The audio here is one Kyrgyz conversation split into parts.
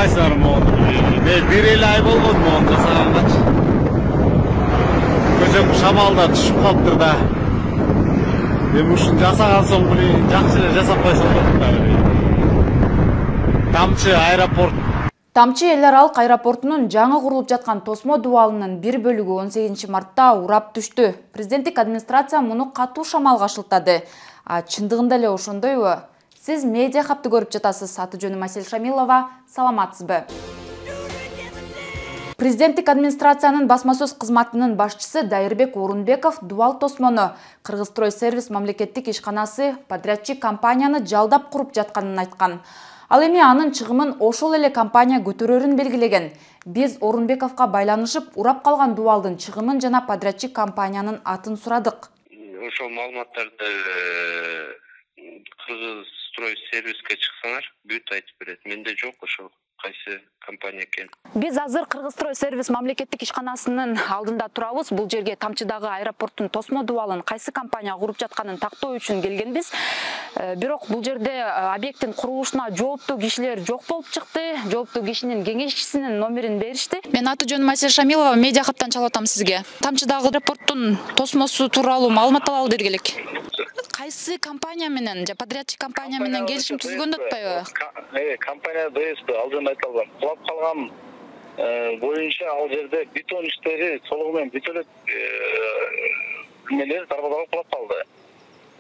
каалайсыңар могуну? Бир эле ай болгон могуну жасаганчы. Көчөк шамалда түшүп калыптыр да. Эми ушуну жасаган соң жакшы эле жасап койсо болот да. Тамчы аэропорт. Тамчы эл аралык аэропортунун жаңы курулуп жаткан тосмо дубалынын бир бөлүгү 18 мартта урап түштү. Президенттик администрация муну катуу шамалга шылтады. Чындыгында эле ошондойбу? Сиз медиа хабты көрүп жатасыз. Аты жөнүм Асель Шамилова. Саламатсызбы? Президенттик администрациянын басма сөз кызматынын башчысы Дайырбек Орунбеков дубал тосмону Кыргызстрой сервис мамлекеттик ишканасы подрядчик компанияны жалдап куруп жатканын айткан. Ал эми анын чыгымын ошол эле компания көтөрөрүн белгилеген. Биз Орунбековго байланышып, урап калган дубалдын чыгымын жана подрядчик компаниянын атын сурадык. Ошол маалыматтарды Кыргызстрой сервиске чыксаңар, бүт айтып берет. Менде жок ошол кайсы компания экен. Биз азыр Кыргызстрой сервис мамлекеттик ишканасынын алдында турабыз. Бул жерге Тамчыдагы аэропорттун тосмо дубалын кайсы компания куруп жатканын тактоо үчүн келгенбиз. Бирок бул жерде объекттин курулушуна жооптуу кишилер жок болуп чыкты. Жооптуу кишинин кеңешчисинин номерин беришти. Мен аты жөнүм Асель Шамилова, медиа хаптан чалып атам сизге. Тамчыдагы аэропорттун тосмосу тууралуу маалымат алалы деди элек. Кайсы компания менен, подрядчик компания менен келишим түзгөн атпайбы? Компания ДСП алдын айтылган. Кулап калган боюнча ал жерде бетон иштери толугу менен бүтөлөт эмелер дарбазалап кулап калды.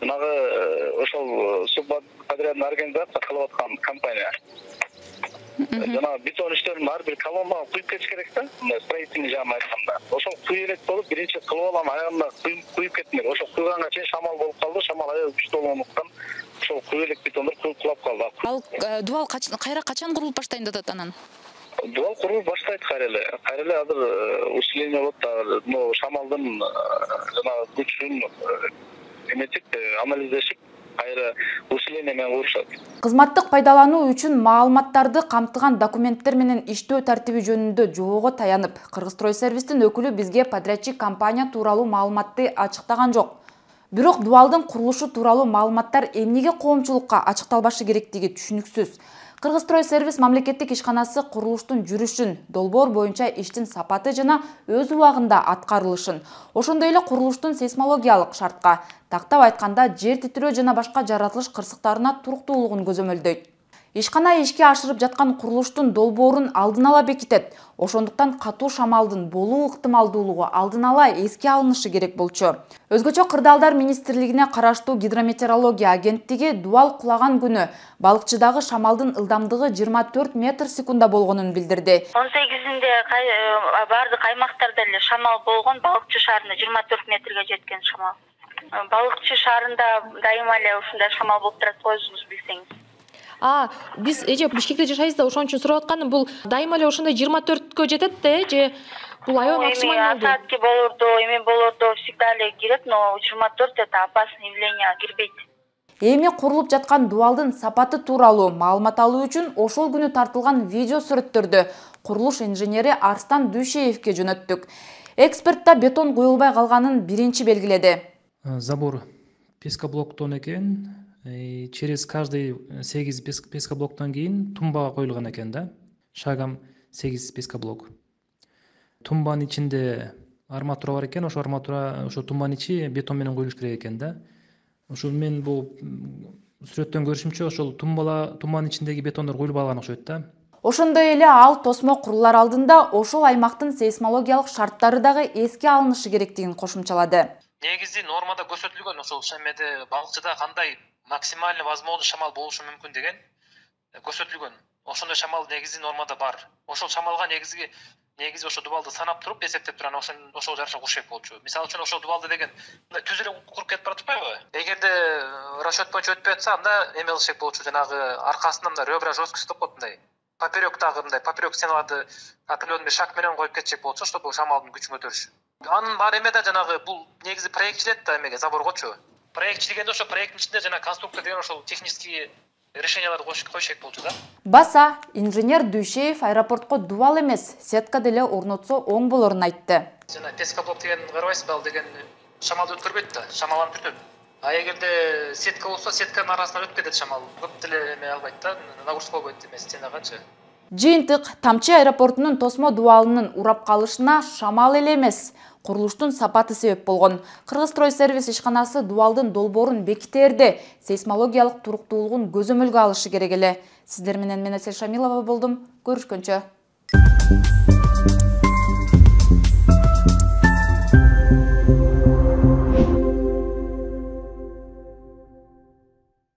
Жанагы ошол субподрядный организация кылып аткан компания. Жана бетон иштерин ар бир колоннага куюп кетиш керек да. Строительный жагын айтканда. Ошол куюп элек болуп, биринчи кылып алам, аягында куюп кетмек. Ошол куйганга чейин шамал болуп калды. Шамал аябай күчтүү болгондуктан ошол куюп элек бетондор кулап калды. Ал дубал качан курулуп баштайын деп атат анан? Дубал курулуп баштайт кайра эле азыр усиление болот да. Но шамалдын жана күчүн эметип анализдешип кайра усиление менен курушат. Кызматтык пайдалануу үчүн маалыматтарды камтыган документтер менен иштөө тартиби жөнүндө жоого таянып, Кыргызстрой сервистин өкүлү бизге подрядчик компания тууралуу маалыматты ачыктаган жок. Бирок дубалдын курулушу тууралуу маалыматтар эмнеге коомчулукка ачыкталбашы керектиги түшүнүксүз. Кыргызстрой сервис мамлекеттик ишканасы курулуштун жүрүшүн, долбоор боюнча иштин сапаты жана өз убагында аткарылышын, ошондой эле курулуштун сейсмологиялык шартка, тактап айтканда жер титирөө жана башка жаратылыш кырсыктарына туруктуулугун көзөмөлдөйт. Ишкана ишке ашырып жаткан курулуштун долбоорун алдын ала бекитет. Ошондуктан катуу шамалдын болуу ыктымалдуулугу алдын ала эске алынышы керек болчу. Өзгөчө Кырдаалдар министрлигине караштуу гидрометеорология агенттиги дубал кулаган күнү балыкчыдагы шамалдын ылдамдыгы 24 метр секунда болгонун билдирди. 18-inde бардык аймактарда эле шамал болгон, балыкчы шаарында 24 метрге жеткен шамал. Балыкчы шаарында дайыма эле ушундай шамал болуп турат, өзүңүз билсеңиз. Биз Бишкекте жашайбыз да, ошон үчүн сурап атканым, бул дайыма эле ошондой 24кө жетет да, же бул аябай максималдуу? Саатке болорду, эми болорду, всегда эле кирет, но 24 это опасный явление, кирбейт. Эми курулуп жаткан дубалдын сапаты тууралуу маалымат алуу үчүн ошол күнү тартылган видео сүрөттөрдү курулуш инженери Арстан Дүйшеевке жөнөттүк. Экспертта бетон куюлбай калганын биринчи белгиледи. Забор пескоблоктон экен. Через каждый 8 пескоблоктон кийин тумбага коюлган экен да. Шагам 8 пескоблок. Тумбанын ичинде арматура бар экен, ошо арматура, ошо тумбанын ичи бетон менен коюлуш керек экен да. Ошол мен бул сүрөттөн көрүшүмчө ошол тумбанын ичиндеги бетондор коюлуп алган окшойт да. Ошондой эле ал тосмо курулар алдында ошол аймактын сейсмологиялык шарттары дагы эске алынышы керектигин кошумчалады. Негизи нормада көрсөтүлгөн ошол шемеде балыкчыда кандай максимально возможный шамал болушу мүмкүн деген көрсөтүлгөн. Ошондой шамал негизи нормада бар. Ошол шамалга негизи ошол дубалды санап туруп эсептеп турган ошол жараша куруш керек болчу. Мисалы үчүн ошол дубалды деген түз эле куруп кетип баратпайбы? Эгерде расчет боюнча өтпөй атса, анда эме кылыш керек болчу, жанагы аркасынан мындай ребра жесткость деп коет мындай. Поперёктагы мындай поперёк стеналарды определенный шаг менен коюп кетчек болчу, чтобы шамалдын күчүн көтөрүш. Анын бар эмеде жанагы бул негизи проектчилет да эмеге заборгочу. Проект дегенде ошо проекттин ичинде жана конструктор деген ошол технический решенияларды коюш керек болчу да. Баса инженер Дүйшеев аэропортко дубал эмес, сетка деле орнотсо оң болорун айтты. Жана пескоблок деген карабайсызбы, ал деген шамалды өткөрбөйт да, шамаланып бүтөт. А эгерде сетка болсо, сетканын арасынан өтүп кетет шамал. Көп деле эме албайт да, нагрузка болбойт эме стенаганчы. Жыйынтык Тамчы аэропортунун тосмо дубалынын урап калышына шамал эле эмес, курулуштун сапаты себеп болгон. Кыргызстройсервис ишканасы дубалдын долбоорун бекитерде сейсмологиялык туруктуулугун көзөмөлгө алышы керек эле. Сиздер менен мен Асель Шамилова болдум. Көрүшкөнчө.